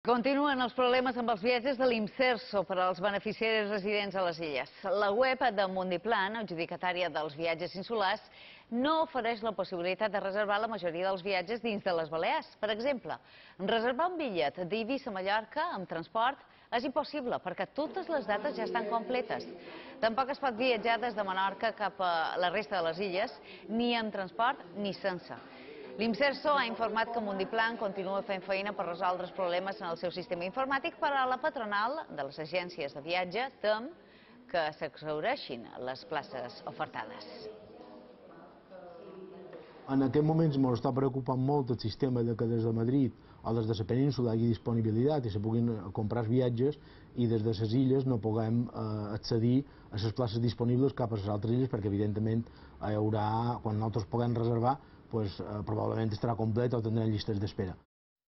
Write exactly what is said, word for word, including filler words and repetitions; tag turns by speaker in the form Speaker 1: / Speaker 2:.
Speaker 1: Continuen els problemes amb els viatges de l'Imserso per als beneficiaris residents a les illes. La web de Mundiplan, adjudicatària dels viatges insulars, no ofereix la possibilitat de reservar la majoria dels viatges dins de les Balears. Per exemple, reservar un bitllet d'Eivissa a Mallorca amb transport és impossible perquè totes les dates ja estan completes. Tampoc es pot viatjar des de Menorca cap a la resta de les illes, ni amb transport ni sense. L'Imserso ha informat que Mundiplan continua fent feina per resoldre els problemes en el seu sistema informàtic, però a la patronal de les agències de viatge tem que s'exhaureixin les places ofertades.
Speaker 2: En aquest moment ens està preocupant molt el sistema de que des de Madrid o des de la península hi hagi disponibilitat i se puguin comprar viatges i des de les illes no puguem accedir a les places disponibles cap a les altres illes perquè evidentment hi haurà, quan nosaltres puguem reservar, pues, probablement estarà complet o tindrem llistes d'espera.